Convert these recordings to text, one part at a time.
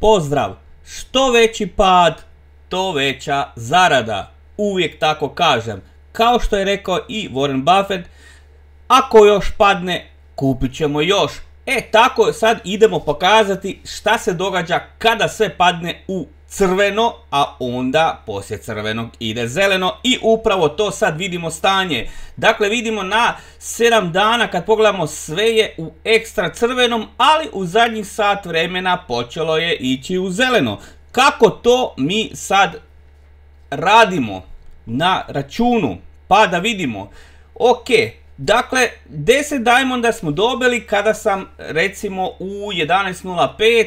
Pozdrav! Što veći pad, to veća zarada. Uvijek tako kažem. Kao što je rekao i Warren Buffett, ako još padne, kupit ćemo još. Tako sad idemo pokazati šta se događa kada sve padne u crveno, a onda poslije crvenog ide zeleno i upravo to sad vidimo stanje. Dakle, vidimo na 7 dana kad pogledamo sve je u ekstra crvenom, ali u zadnjih sat vremena počelo je ići u zeleno. Kako to mi sad radimo na računu? Pa da vidimo. Ok, dakle 10 diamonda smo dobili kada sam recimo u 11.05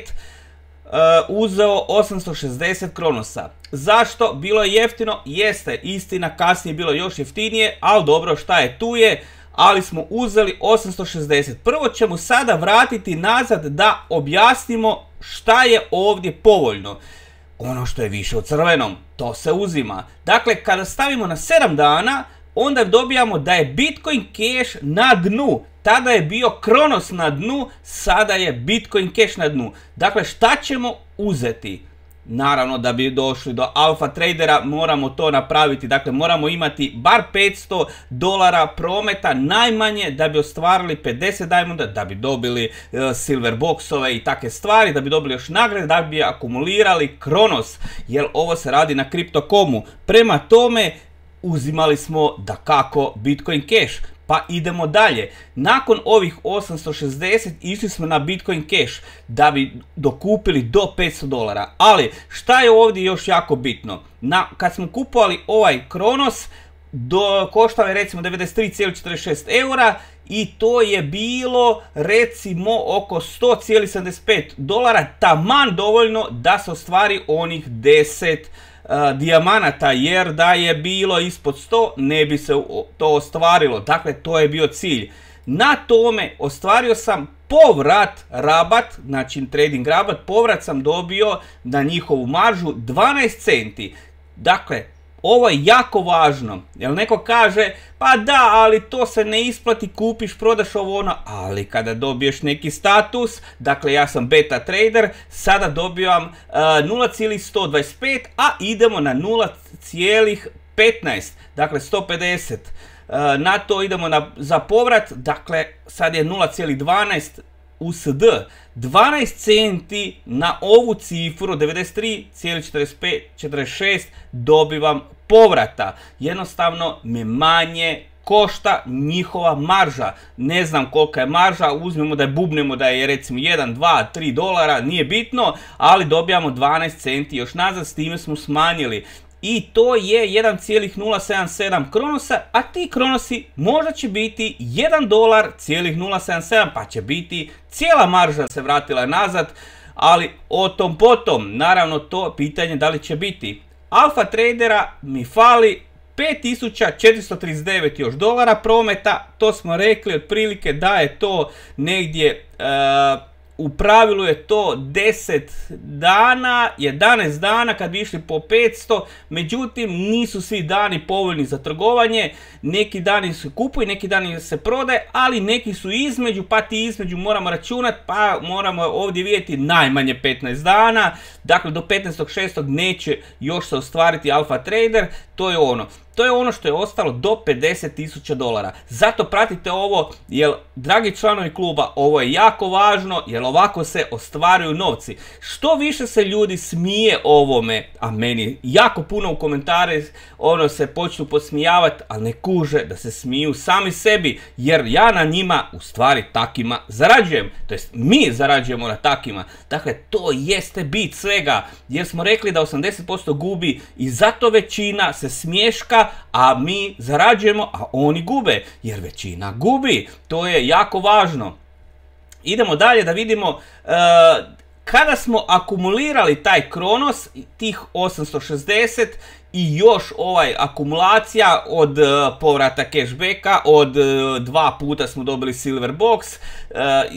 uzeo 860 kronosa. Zašto? Bilo je jeftino? Jeste, istina, kasnije je bilo još jeftinije, ali dobro, šta je tu je, ali smo uzeli 860. Prvo ćemo sada vratiti nazad da objasnimo šta je ovdje povoljno. Ono što je više u crvenom, to se uzima. Dakle, kada stavimo na 7 dana, onda dobijamo da je Bitcoin Cash na dnu. Tada je bio Kronos na dnu, sada je Bitcoin Cash na dnu. Dakle, šta ćemo uzeti? Naravno, da bi došli do alfa tradera moramo to napraviti. Dakle, moramo imati bar $500 prometa najmanje da bi ostvarili 50 diamonda, da bi dobili silver boxove i takve stvari, da bi dobili još nagrade, da bi akumulirali Kronos. Jer ovo se radi na Crypto.comu. Prema tome, uzimali smo dakako Bitcoin Cash. Pa idemo dalje. Nakon ovih 860 išli smo na Bitcoin Cash da bi dokupili do $500. Ali šta je ovdje još jako bitno? Kad smo kupovali ovaj Kronos, koštao je recimo 93,46 eura i to je bilo recimo oko $100,75, taman dovoljno da se ostvari onih 10 dijamanata, jer da je bilo ispod 100 ne bi se to ostvarilo. Dakle, to je bio cilj. Na tome ostvario sam povrat rabat, znači trading rabat, povrat sam dobio na njihovu maržu 12 centi. Dakle, ovo je jako važno, jer neko kaže, pa da, ali to se ne isplati, kupiš, prodaš ovo ono, ali kada dobiješ neki status, dakle ja sam beta trader, sada dobivam 0,125, a idemo na 0,15, dakle 150. Na to idemo za povrat, dakle sad je 0,12 USD, 12 centi na ovu cifru 93,46 dobivam povrata. Jednostavno me manje košta njihova marža. Ne znam kolika je marža, uzmemo da je bubnemo da je recimo 1, 2, 3 dolara, nije bitno, ali dobijamo 12 centi još nazad, s time smo smanjili. I to je 1,077 kronosa, a ti kronosi možda će biti $1,077, pa će biti cijela marža se vratila nazad, ali o tom potom, naravno to pitanje da li će biti. Alfa tradera mi fali 5439 još dolara prometa, to smo rekli otprilike da je to negdje, u pravilu je to 10 dana, 11 dana kad bi išli po 500, međutim nisu svi dani povoljni za trgovanje, neki dani se kupuju, neki dani se prodaje, ali neki su između, pa ti između moramo računati, pa moramo ovdje vidjeti najmanje 15 dana, dakle do 15.6. neće još se ostvariti alfa trader, to je ono. To je ono što je ostalo do $50,000. Zato pratite ovo, jer dragi članovi kluba, ovo je jako važno, jer ovako se ostvaruju novci. Što više se ljudi smije ovome, a meni jako puno u komentare se počnu podsmijavati, ali ne kuže da se smiju sami sebi, jer ja na njima u stvari takima zarađujem. To jest mi zarađujemo na takima. Dakle, to jeste bit svega, jer smo rekli da 80% gubi i zato većina se smješka, a mi zarađujemo, a oni gube, jer većina gubi. To je jako važno. Idemo dalje da vidimo, kada smo akumulirali taj Kronos, tih 860 i još akumulacija od povrata cashbacka, od 2 puta smo dobili silver box,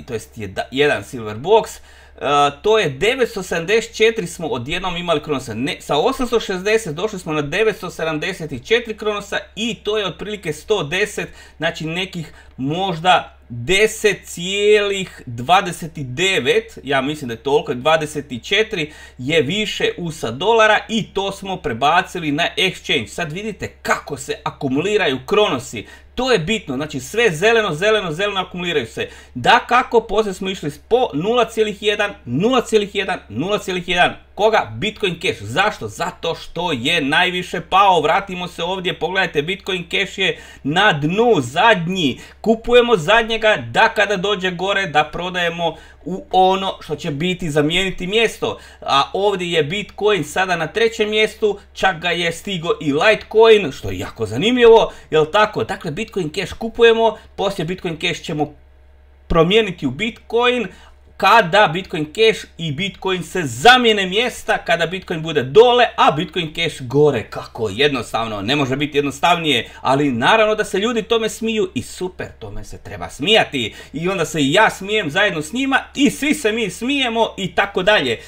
to jest jedan silver box, to je 974 smo odjednom imali kronosa. Sa 860 došli smo na 974 kronosa i to je otprilike 110, znači nekih možda 10,29, ja mislim da je toliko, 24 je više USA dolara i to smo prebacili na exchange. Sad vidite kako se akumuliraju kronosi. To je bitno, znači sve zeleno, zeleno, zeleno akumuliraju se. Da kako, poslije smo išli po 0,1, 0,1, 0,1. Koga? Bitcoin Cash. Zašto? Zato što je najviše pao. Vratimo se ovdje, pogledajte, Bitcoin Cash je na dnu, zadnji. Kupujemo zadnjega da kada dođe gore da prodajemo u ono što će biti zamijeniti mjesto. A ovdje je Bitcoin sada na trećem mjestu, čak ga je stigo i Litecoin, što je jako zanimljivo, jel tako? Dakle, Bitcoin Cash kupujemo, poslije Bitcoin Cash ćemo promijeniti u Bitcoin, kada Bitcoin Cash i Bitcoin se zamijene mjesta, kada Bitcoin bude dole, a Bitcoin Cash gore. Kako jednostavno, ne može biti jednostavnije, ali naravno da se ljudi tome smiju i super, tome se treba smijati. I onda se i ja smijem zajedno s njima i svi se mi smijemo i tako dalje.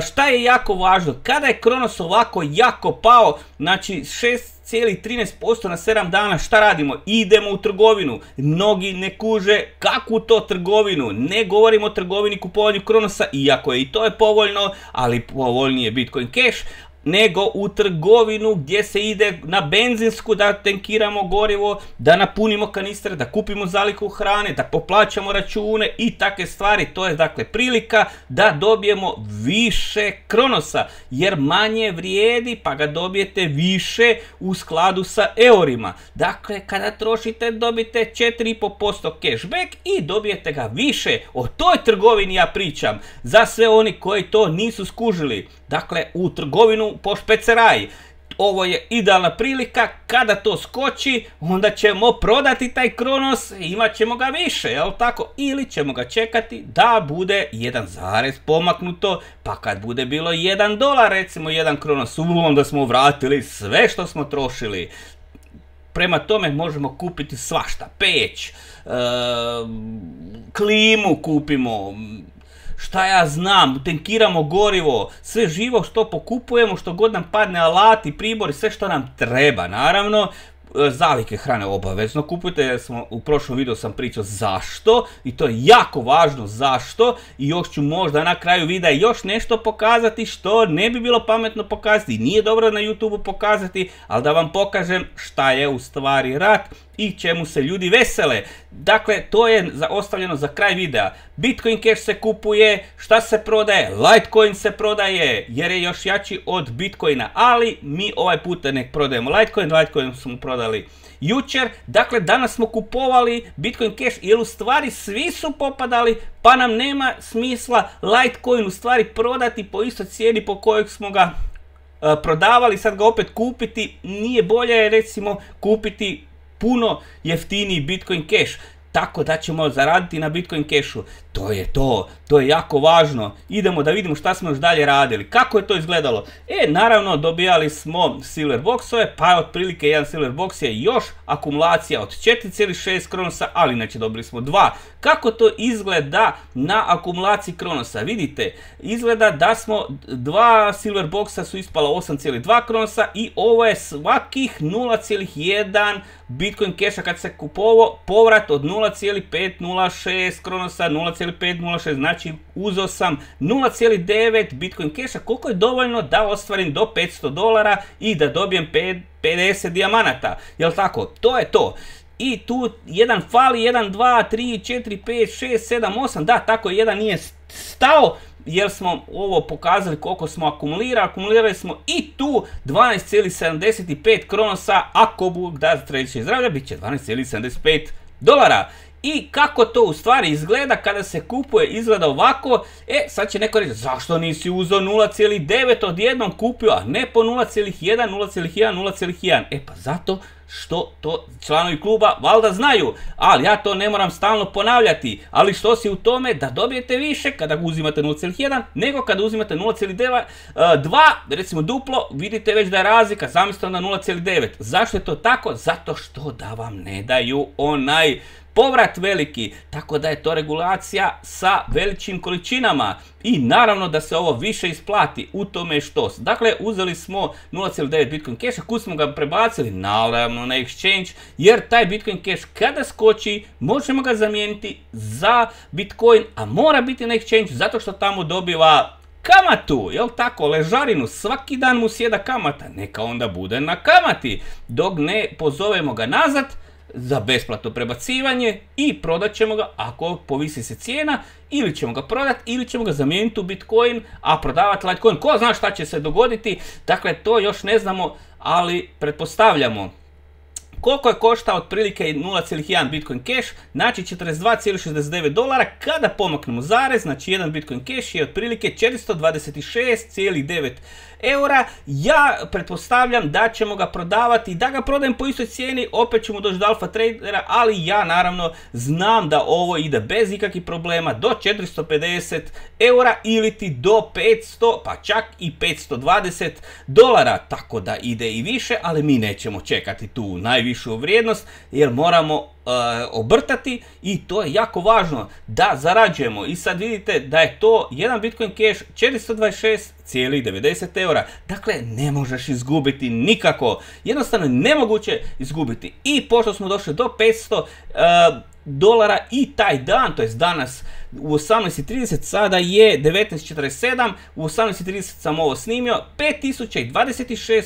Šta je jako važno? Kada je Kronos ovako jako pao, znači 6,13% na 7 dana, šta radimo? Idemo u trgovinu. Mnogi ne kuže kakvu to trgovinu. Ne govorimo o trgovini kupovanju Kronosa, iako je i to je povoljno, ali povoljnije je Bitcoin Cash, nego u trgovinu gdje se ide na benzinsku da tankiramo gorivo, da napunimo kanistre, da kupimo zalihu hrane, da poplaćamo račune i takve stvari. To je dakle prilika da dobijemo više Kronosa, jer manje vrijedi pa ga dobijete više u skladu sa eurima. Dakle, kada trošite dobijete 4,5% cashback i dobijete ga više. O toj trgovini ja pričam, za sve oni koji to nisu skužili. Dakle, u trgovinu po špeceraj. Ovo je idealna prilika, kada to skoči, onda ćemo prodati taj Kronos, imat ćemo ga više, jel tako? Ili ćemo ga čekati da bude 1 zarez pomaknuto, pa kad bude bilo $1, recimo 1 Kronos, onda smo vratili sve što smo trošili. Prema tome možemo kupiti svašta, peć, klimu kupimo, šta ja znam, tankiramo gorivo, sve živo što pokupujemo, što god nam padne, alati, pribori, sve što nam treba, naravno. Zalihe hrane obavezno kupujte, jer u prošlom videu sam pričao zašto i to je jako važno zašto, i još ću možda na kraju videa još nešto pokazati što ne bi bilo pametno pokazati, nije dobro na YouTubeu pokazati, ali da vam pokažem šta je u stvari rat i čemu se ljudi vesele. Dakle, to je ostavljeno za kraj videa. Bitcoin Cash se kupuje, šta se prodaje? Litecoin se prodaje jer je još jači od Bitcoina, ali mi ovaj puta ne prodajemo Litecoin smo prodali jučer. Dakle, danas smo kupovali Bitcoin Cash jer u stvari svi su popadali, pa nam nema smisla Litecoin u stvari prodati po istoj cijeni po kojoj smo ga prodavali, sad ga opet kupiti. Nije bolje recimo kupiti puno jeftiniji Bitcoin Cash, tako da ćemo zaraditi na Bitcoin Cashu. To je to, to je jako važno. Idemo da vidimo šta smo još dalje radili. Kako je to izgledalo? Naravno dobijali smo silver boxove, pa otprilike jedan silver box je još akumulacija od 4,6 Kronosa, ali inače dobili smo 2. Kako to izgleda na akumulaciji Kronosa? Vidite, izgleda da smo 2 silver boxa su ispala 8,2 Kronosa i ovo je svakih 0,1 Bitcoin Casha kad se kupovao, povrat od 0,506 Kronosa, 0,506, znači uzeo sam 0,9 Bitcoin Casha, koliko je dovoljno da ostvarim do $500 i da dobijem 50 dijamanata, jel tako? To je to. I tu jedan fali, 1, 2, 3, 4, 5, 6, 7, 8, da, tako jedan nije stao, jer smo ovo pokazali koliko smo akumulirali smo i tu 12,75 Kronosa, ako Bog da treće zdravlja, bit će $12,75. I kako to u stvari izgleda kada se kupuje, izgleda ovako. Sad će neko reći, zašto nisi uzeo 0,9 odjednom kupio, a ne po 0,1, 0,1, 0,1? Pa zato što to članovi kluba valjda znaju, ali ja to ne moram stalno ponavljati. Ali što si u tome da dobijete više kada uzimate 0,1 nego kada uzimate 0,2, recimo duplo, vidite već da je razlika, zamislite onda 0,9. Zašto je to tako? Zato što da vam ne daju onaj povrat veliki, tako da je to regulacija sa veličim količinama i naravno da se ovo više isplati, u tome što. Dakle, uzeli smo 0,9 Bitcoin Casha, kud smo ga prebacili, naravno na exchange, jer taj Bitcoin Cash kada skoči, možemo ga zamijeniti za Bitcoin, a mora biti na exchange zato što tamo dobiva kamatu, jel tako, ležarinu, svaki dan mu sjeda kamata, neka onda bude na kamati, dok ne pozovemo ga nazad za besplatno prebacivanje i prodat ćemo ga ako povisi se cijena, ili ćemo ga prodati ili ćemo ga zamijeniti u Bitcoin, a prodavati Litecoin, ko zna šta će se dogoditi, dakle to još ne znamo, ali pretpostavljamo. Koliko je koštao otprilike 0,1 Bitcoin Cash, znači $42,69, kada pomaknemo zarez, znači jedan Bitcoin Cash je otprilike 426,9 eura. Ja pretpostavljam da ćemo ga prodavati, da ga prodajem po istoj cijeni, opet ćemo doći do Alpha Tradera, ali ja naravno znam da ovo ide bez ikakvih problema do 450 eura ili ti do 500, pa čak i $520, tako da ide i više, ali mi nećemo čekati tu najvišu vrijednost jer moramo obrtati i to je jako važno da zarađujemo. I sad vidite da je to jedan Bitcoin Cash 426,90 eura. Dakle, ne možeš izgubiti nikako. Jednostavno nemoguće izgubiti. I pošto smo došli do $500 i taj dan, to jest danas u 18:30, sada je 19:47, u 18:30 sam ovo snimio, $5026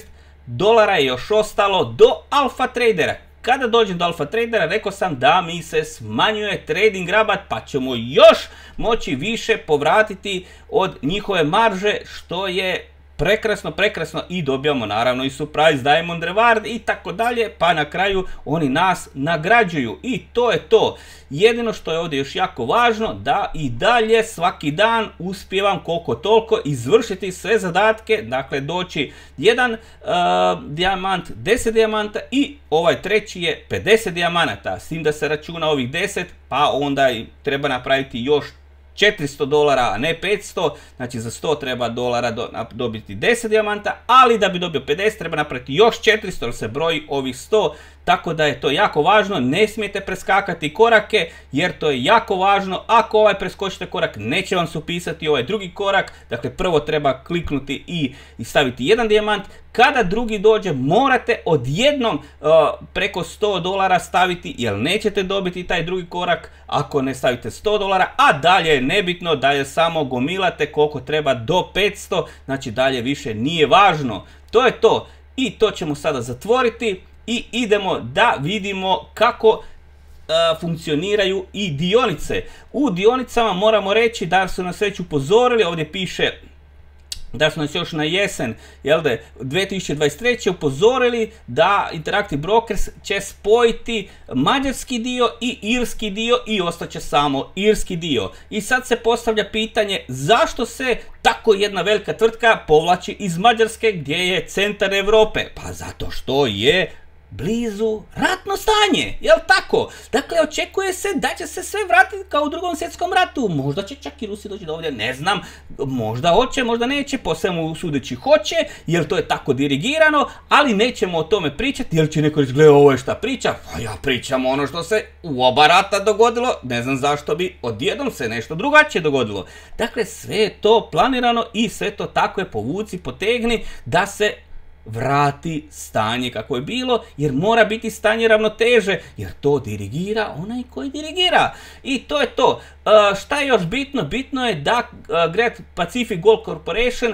je još ostalo do Alpha Tradera. Kada dođem do Alpha Tradera, rekao sam da mi se smanjuje trading rabat, pa ćemo još moći više povratiti od njihove marže, što je prekrasno i dobijamo naravno i surprise diamond reward i tako dalje, pa na kraju oni nas nagrađuju i to je to. Jedino što je ovdje još jako važno, da i dalje svaki dan uspijevam koliko toliko izvršiti sve zadatke, dakle doći jedan dijamant, 10 dijamanta i ovaj treći je 50 dijamanata, s tim da se računa ovih 10, pa onda treba napraviti još $400, a ne 500, znači za $100 treba dobiti 10 dijamanta, ali da bi dobio 50 treba napraviti još 400, jer se broji ovih 100, tako da je to jako važno, ne smijete preskakati korake, jer to je jako važno, ako ovaj preskočite korak, neće vam se upisati ovaj drugi korak, dakle prvo treba kliknuti i staviti jedan dijamant, kada drugi dođe morate odjednom preko $100 staviti, jer nećete dobiti taj drugi korak ako ne stavite $100, a dalje je nebitno, dalje samo gomilate koliko treba do 500, znači dalje više nije važno. To je to i to ćemo sada zatvoriti i idemo da vidimo kako funkcioniraju i dionice. U dionicama moramo reći da su nas već upozorili, ovdje piše da su nas još na jesen 2023. upozorili da Interactive Brokers će spojiti mađarski dio i irski dio i ostaće samo irski dio. I sad se postavlja pitanje zašto se tako jedna velika tvrtka povlači iz Mađarske gdje je centar Europe? Pa zato što je blizu ratno stanje, jel tako? Dakle, očekuje se da će se sve vratiti kao u Drugom svjetskom ratu. Možda će čak i Rusi doći do ovdje, ne znam. Možda hoće, možda neće, po svemu sudeći hoće, jer to je tako dirigirano, ali nećemo o tome pričati, jer će neko reći, gle, ovo je šta priča. Pa ja pričam ono što se u oba rata dogodilo, ne znam zašto bi odjednom se nešto drugačije dogodilo. Dakle, sve je to planirano i sve to tako je povuci, potegni, da se vrati stanje kako je bilo, jer mora biti stanje ravnoteže, jer to dirigira onaj koji dirigira. I to je to. Šta je još bitno? Bitno je da Great Pacific Gold Corporation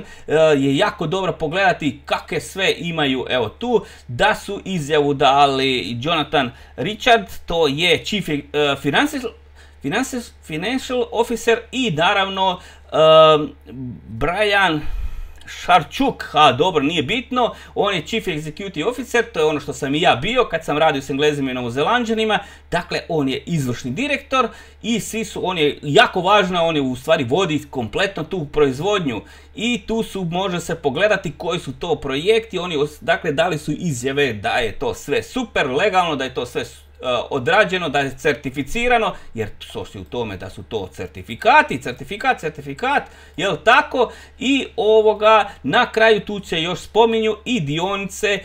je jako dobro pogledati kakve sve imaju, evo tu, da su izjavu dali Jonathan Richard, to je Chief Financial Officer i naravno Brian Šarčuk, dobro, nije bitno, on je Chief Executive Officer, to je ono što sam i ja bio kad sam radio s Englezima i Novozelanđanima, dakle on je izvršni direktor i svi su, on je jako važno, on je u stvari vodi kompletno tu proizvodnju i tu su, može se pogledati koji su to projekti, oni dakle dali su izjave da je to sve super legalno, da je to sve odrađeno, da je certificirano, jer to si u tome da su to certifikati, certifikat, jel tako? I na kraju tu se još spominju i dionice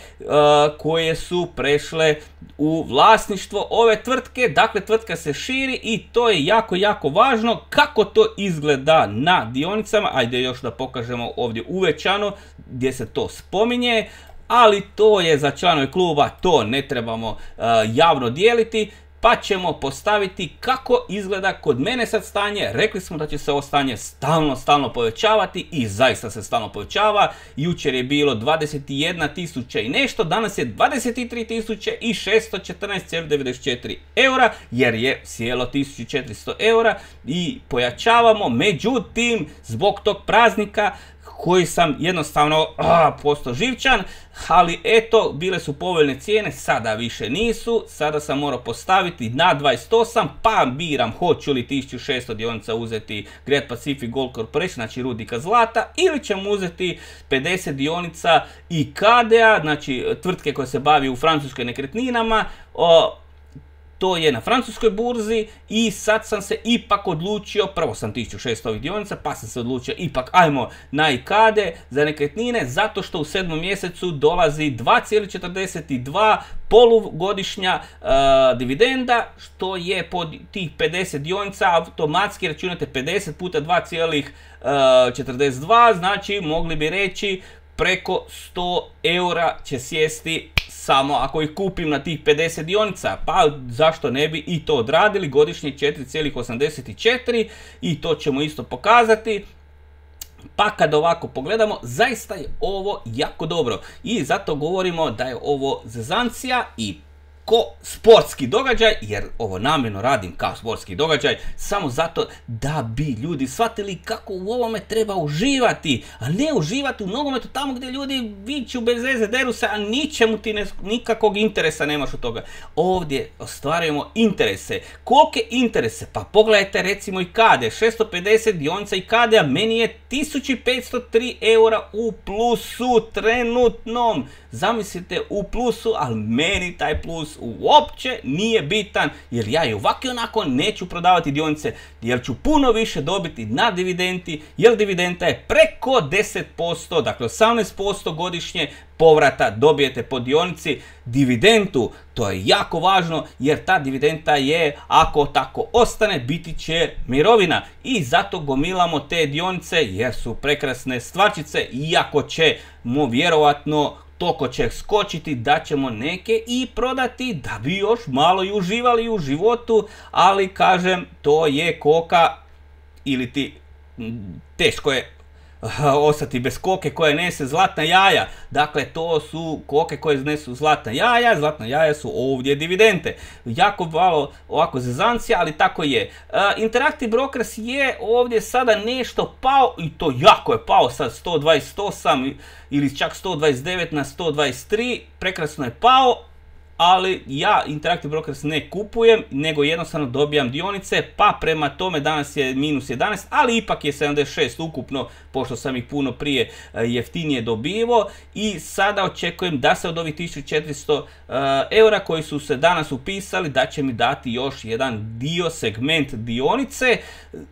koje su prešle u vlasništvo ove tvrtke. Dakle, tvrtka se širi i to je jako važno. Kako to izgleda na dionicama? Ajde još da pokažemo ovdje uvećano gdje se to spominje, ali to je za članove kluba, to ne trebamo javno dijeliti, pa ćemo postaviti kako izgleda kod mene sad stanje. Rekli smo da će se ovo stanje stalno povećavati i zaista se stalno povećava. Jučer je bilo 21.000 i nešto, danas je 23.614,94 eura, jer je sjelo 1400 eura i pojačavamo. Međutim, zbog tog praznika koji sam jednostavno postao živčan, ali eto, bile su povoljne cijene, sada više nisu, sada sam morao postaviti na 28, pa biram hoću li 1600 dionica uzeti Great Pacific Gold Corporation, znači rudnika zlata, ili ćemo uzeti 50 dionica IKADE-a, znači tvrtke koja se bavi u Francuskoj nekretninama. To je na francuskoj burzi i sad sam se ipak odlučio, prvo sam 1600 ovih dionica, pa sam se odlučio ipak ajmo na IKADE za nekretnine, zato što u 7. mjesecu dolazi 2,42 polugodišnja dividenda, što je pod tih 50 dionica, automatski računate 50 puta 2,42, znači mogli bi reći preko 100 eura će sjesti samo ako ih kupim na tih 50 dionica, pa zašto ne bi i to odradili, godišnje 4,84 i to ćemo isto pokazati. Pa kad ovako pogledamo, zaista je ovo jako dobro i zato govorimo da je ovo zezancija i ko sportski događaj, jer ovo namjerno radim kao sportski događaj, samo zato da bi ljudi shvatili kako u ovome treba uživati, a ne uživati u nogometu tamo gdje ljudi viču bez veze, deru se, a ničemu ti nikakvog interesa nemaš od toga. Ovdje ostvarujemo interese. Kolike interese? Pa pogledajte recimo IKADE, 650 dionica IKADE-a, meni je 1503 eura u plusu trenutnom. Zamislite, u plusu, ali meni taj plus uopće nije bitan, jer ja i ovako i onako neću prodavati dionice, jer ću puno više dobiti na dividendi, jer dividenda je preko 10%, dakle 18% godišnje povrata dobijete po dionici. Dividendu, to je jako važno, jer ta dividenda je, ako tako ostane, biti će mirovina i zato gomilamo te dionice jer su prekrasne stvarčice, iako ćemo vjerovatno toliko će skočiti da ćemo neke i prodati da bi još malo i uživali u životu, ali kažem, to je koka ili ti teško je ostati bez koke koje nese zlatna jaja. Dakle, to su koke koje nesu zlatna jaja su ovdje dividende. Jako malo ovako zezancija, ali tako je. Interactive Brokers je ovdje sada nešto pao i to jako je pao, sad 128 ili čak 129 na 123, prekrasno je pao. Ali ja Interactive Brokers ne kupujem, nego jednostavno dobijam dionice, pa prema tome danas je minus 11, ali ipak je 76 ukupno, pošto sam ih puno prije jeftinije dobivao i sada očekujem da se od ovih 1400 eura koji su se danas upisali, da će mi dati još jedan dio, segment dionice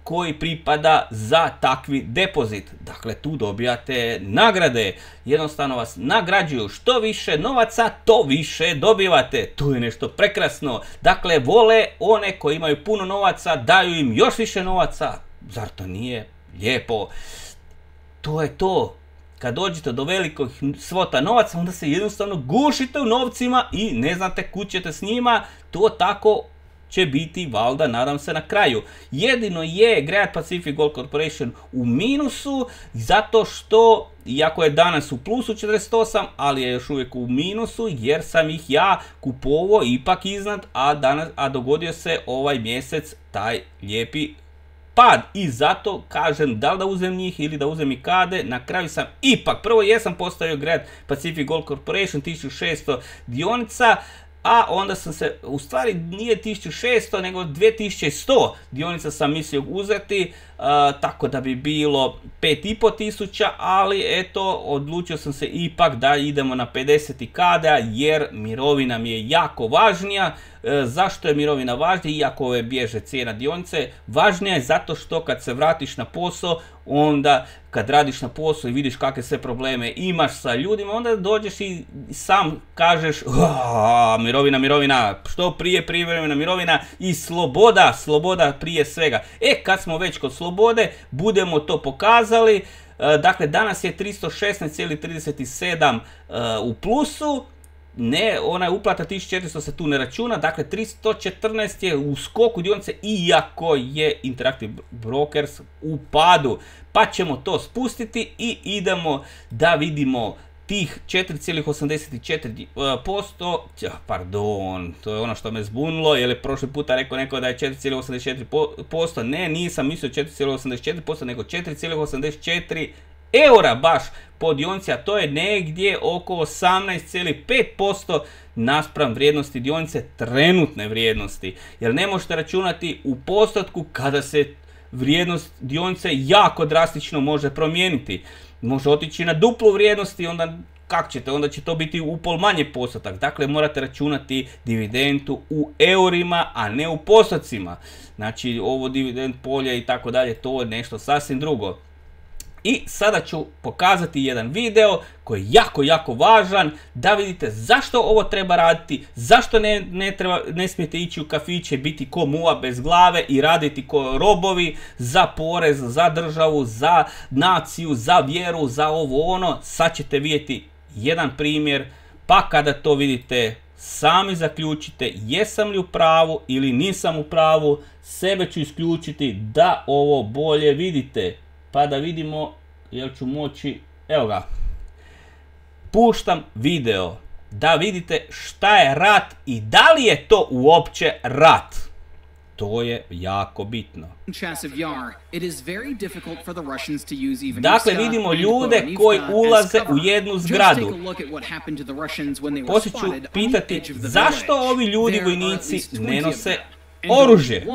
koji pripada za takvi depozit. Dakle, tu dobijate nagrade, jednostavno vas nagrađuju, što više novaca, to više dobivate. Tu je nešto prekrasno. Dakle, vole one koji imaju puno novaca, daju im još više novaca. Zar to nije lijepo? To je to. Kad dođete do velikog svota novaca, onda se jednostavno gušite u novcima i ne znate kud ćete s njima. To tako će biti, valjda, nadam se, na kraju. Jedino je Great Pacific Gold Corporation u minusu, zato što, iako je danas u plusu 48, ali je još uvijek u minusu, jer sam ih ja kupovao ipak iznad, a dogodio se ovaj mjesec taj lijepi pad. I zato kažem da li da uzem njih ili da uzem IKADE. Na kraju sam ipak, prvo jesam postavio Great Pacific Gold Corporation 1600 dionica, a onda sam se, u stvari nije 1600 nego 2100 dionica sam mislio uzeti, tako da bi bilo 5500, ali eto, odlučio sam se ipak da idemo na 50 IKADE-a jer mirovina mi je jako važnija. Zašto je mirovina važnija, iako ove bježe cijena dionice? Važnija je zato što kad se vratiš na posao, onda kad radiš na posao i vidiš kakve sve probleme imaš sa ljudima, onda dođeš i sam kažeš mirovina, što prije privremena mirovina i sloboda prije svega. Kad smo već kod slobode, budemo to pokazali. Dakle, danas je 316,37 u plusu. Ne, ona je uplata 1400 se tu ne računa, dakle 314 je u skoku dionice iako je Interactive Brokers u padu. Pa ćemo to spustiti i idemo da vidimo tih 4,84%, pardon, to je ono što me zbunilo, jer je prošli puta rekao neko da je 4,84%, ne, nisam mislio 4,84%, nego 4,84 eura baš po dionici, a to je negdje oko 18,5% naspram vrijednosti dionice, trenutne vrijednosti, jer ne možete računati u postotku kada se vrijednost dionice jako drastično može promijeniti. Može otići na duplu vrijednosti, onda kako ćete, onda će to biti upol manje postotak. Dakle, morate računati dividendu u eurima, a ne u postocima. Znači, ovo dividend polje i tako dalje, to je nešto sasvim drugo. I sada ću pokazati jedan video koji je jako važan da vidite zašto ovo treba raditi, zašto ne smijete ići u kafiće, biti ko muva bez glave i raditi ko robovi za porez, za državu, za naciju, za vjeru, za ovo ono. Sad ćete vidjeti jedan primjer, pa kada to vidite sami zaključite jesam li u pravu ili nisam u pravu. Sebe ću isključiti da ovo bolje vidite. Pa da vidimo jel ću moći, evo ga, puštam video da vidite šta je rat i da li je to uopće rat. To je jako bitno. Dakle, vidimo ljude koji ulaze u jednu zgradu. Poslije ću pitati zašto ovi ljudi vojnici ne nose oružje.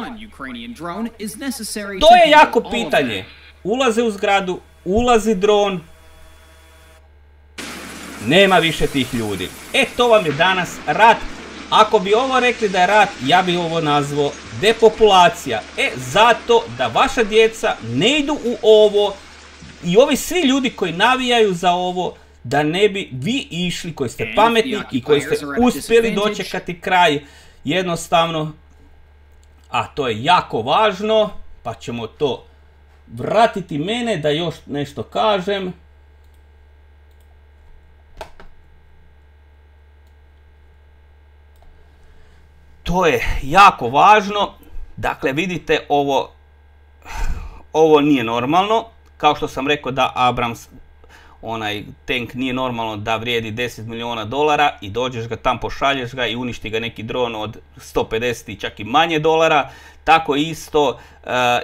To je jako pitanje. Ulaze u zgradu, ulazi dron, nema više tih ljudi. To vam je danas rat. Ako bi ovo rekli da je rat, ja bi ovo nazvao depopulacija. Zato da vaša djeca ne idu u ovo i ovi svi ljudi koji navijaju za ovo, da ne bi vi išli koji ste pametni i koji ste uspjeli dočekati kraj jednostavno. A to je jako važno, pa ćemo to vratiti mene da još nešto kažem. To je jako važno. Dakle, vidite, ovo nije normalno. Kao što sam rekao da Abrams, onaj tank, nije normalno da vrijedi 10 milijuna dolara i dođeš ga tam, pošalješ ga i uništi ga neki dron od 150 i čak i manje dolara. Tako isto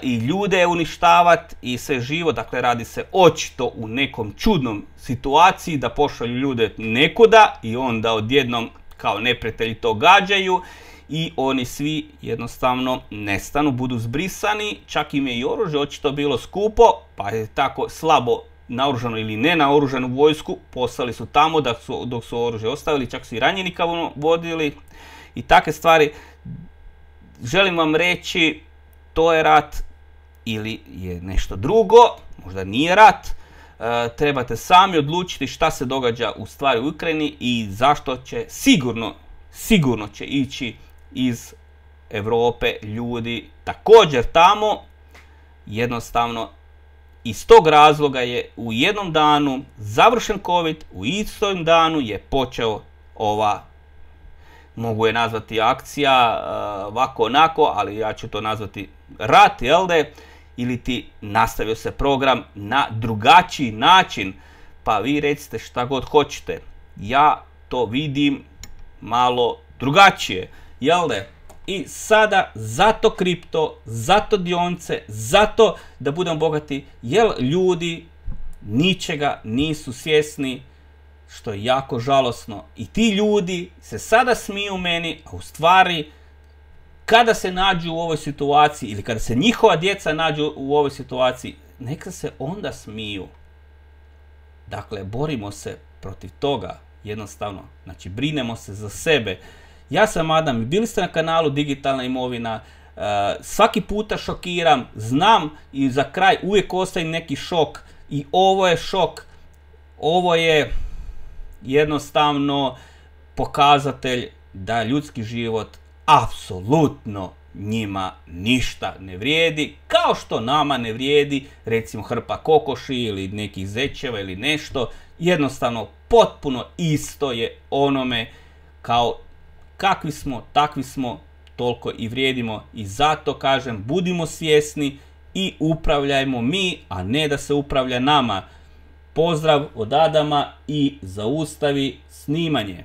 i ljude uništavati i sve živo. Dakle, radi se očito u nekom čudnom situaciji da pošalju ljude nekuda i onda odjednom kao neprijatelji to gađaju i oni svi jednostavno nestanu, budu zbrisani. Čak im je i oružje očito bilo skupo, pa je tako slabo naoružano ili ne naoružanu vojsku poslali su tamo dok su oružje ostavili, čak su i ranjenika vodili i takve stvari. Želim vam reći, to je rat ili je nešto drugo, možda nije rat. Trebate sami odlučiti šta se događa u stvari u Ukrajini i zašto će sigurno će ići iz Europe ljudi također tamo. Jednostavno iz tog razloga je u jednom danu završen COVID, u istom danu je počeo ova, mogu je nazvati akcija, ovako onako, ali ja ću to nazvati rat, jel de? Ili ti nastavio se program na drugačiji način, pa vi recite šta god hoćete. Ja to vidim malo drugačije, jel de? I sada zato kripto, zato dionice, zato da budemo bogati, jer ljudi ničega nisu svjesni, što je jako žalosno. I ti ljudi se sada smiju meni, a u stvari kada se nađu u ovoj situaciji ili kada se njihova djeca nađu u ovoj situaciji, neka se onda smiju. Dakle, borimo se protiv toga, jednostavno. Znači, brinemo se za sebe. Ja sam Adam i bili ste na kanalu Digitalna imovina. Svaki puta šokiram, znam i za kraj uvijek ostaje neki šok i ovo je šok. Ovo je jednostavno pokazatelj da ljudski život apsolutno njima ništa ne vrijedi, kao što nama ne vrijedi recimo hrpa kokoši ili nekih zečeva ili nešto. Jednostavno potpuno isto je onome, kao kakvi smo, takvi smo, toliko i vrijedimo. I zato kažem, budimo svjesni i upravljajmo mi, a ne da se upravlja nama. Pozdrav od Adama i zaustavi snimanje.